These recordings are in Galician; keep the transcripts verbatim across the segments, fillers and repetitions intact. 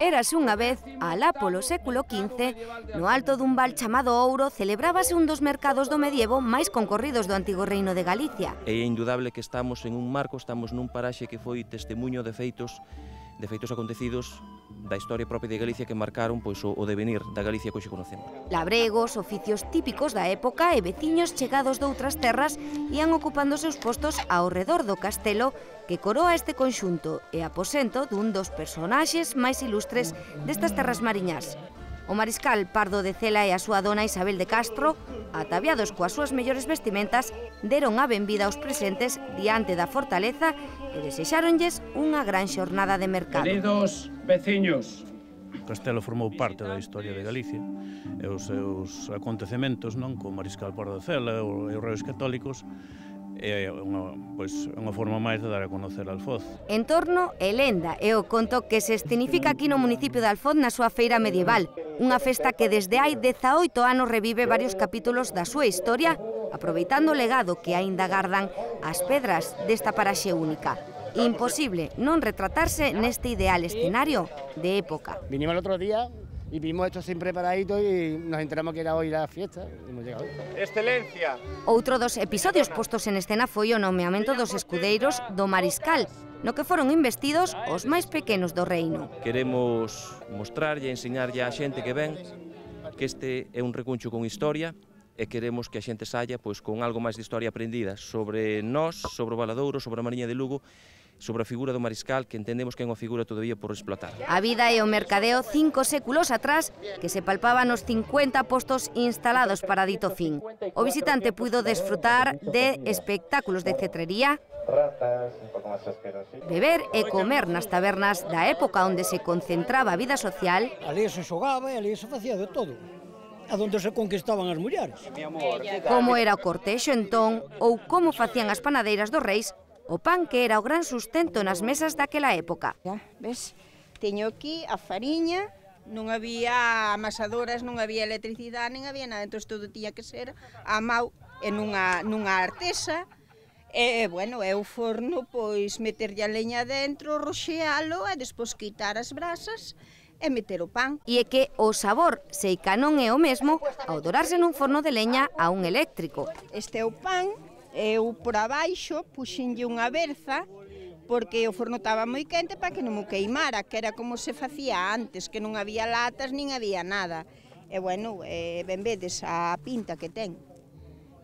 Érase unha vez, alá polo século quince, no alto dun val chamado Ouro, celebrábase un dos mercados do medievo máis concorridos do antigo reino de Galicia. É indudable que estamos en un marco, estamos nun paraxe que foi testemuño de feitos de feitos acontecidos da historia propia de Galicia que marcaron pois, o, o devenir da Galicia que hoxe conocemos. Labregos, oficios típicos da época e veciños chegados doutras terras ían ocupando seus postos ao redor do castelo que coroa este conxunto e aposento dun dos personaxes máis ilustres destas terras mariñas. O mariscal Pardo de Cela e a súa dona Isabel de Castro, ataviados coas súas mellores vestimentas, deron a benvida aos presentes diante da fortaleza e desexáronlles unha gran xornada de mercado. Queridos veciños, o castelo formou parte da historia de Galicia e os seus acontecementos, non, co mariscal Pardo de Cela e os reis católicos, é unha, pois, unha forma máis de dar a conocer Alfoz. Entorno e lenda é o conto que se escenifica aquí no municipio de Alfoz na súa feira medieval, unha festa que desde hai dezaoito anos revive varios capítulos da súa historia, aproveitando o legado que aínda gardan as pedras desta paraxe única. Imposible non retratarse neste ideal escenario de época. Vinimos el otro día y vimos esto sin preparadito y nos enteramos que era hoy la fiesta y hemos llegado. Excelencia. Outro dos episodios postos en escena foi o nomeamento dos escudeiros do Mariscal, no que foron investidos os máis pequenos do reino. Queremos mostrarlle e enseñarlle á xente que ven que este é un recuncho con historia e queremos que a xente saia pois, con algo máis de historia aprendida sobre nós, sobre o Valadouro, sobre a Mariña de Lugo, sobre a figura do mariscal, que entendemos que é unha figura todavía por explotar. A vida e o mercadeo cinco séculos atrás que se palpaba nos cincuenta postos instalados para dito fin. O visitante puido desfrutar de espectáculos de cetrería, beber e comer nas tabernas da época onde se concentraba a vida social. Ali se xogaba e ali se facía de todo, a donde se conquistaban as mulleres. Como era o cortexo entón ou como facían as panadeiras dos reis o pan que era o gran sustento nas mesas daquela época. Ya, ves, teño aquí a fariña, non había amasadoras, non había electricidade, nen había nada, entón todo tiña que ser a mau en unha, nunha artesa, e, bueno, é o forno, pois, meterlle a leña dentro, roxealo, e despois quitar as brasas, e meter o pan. E é que o sabor, sei que non é o mesmo, ao dorarse nun forno de leña a un eléctrico. Este é o pan, eu por abaixo puxenlle unha berza porque o forno estaba moi quente para que non mo queimara, que era como se facía antes, que non había latas nin había nada. E bueno, eh, ben vedes a pinta que ten.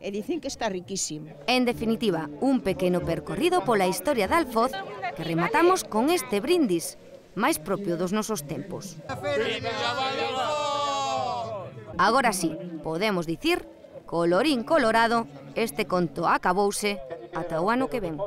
E dicen que está riquísimo. En definitiva, un pequeno percorrido pola historia de Alfoz que rematamos con este brindis, máis propio dos nosos tempos. Agora sí, podemos dicir, colorín colorado, este conto acabouse ata o ano que ven.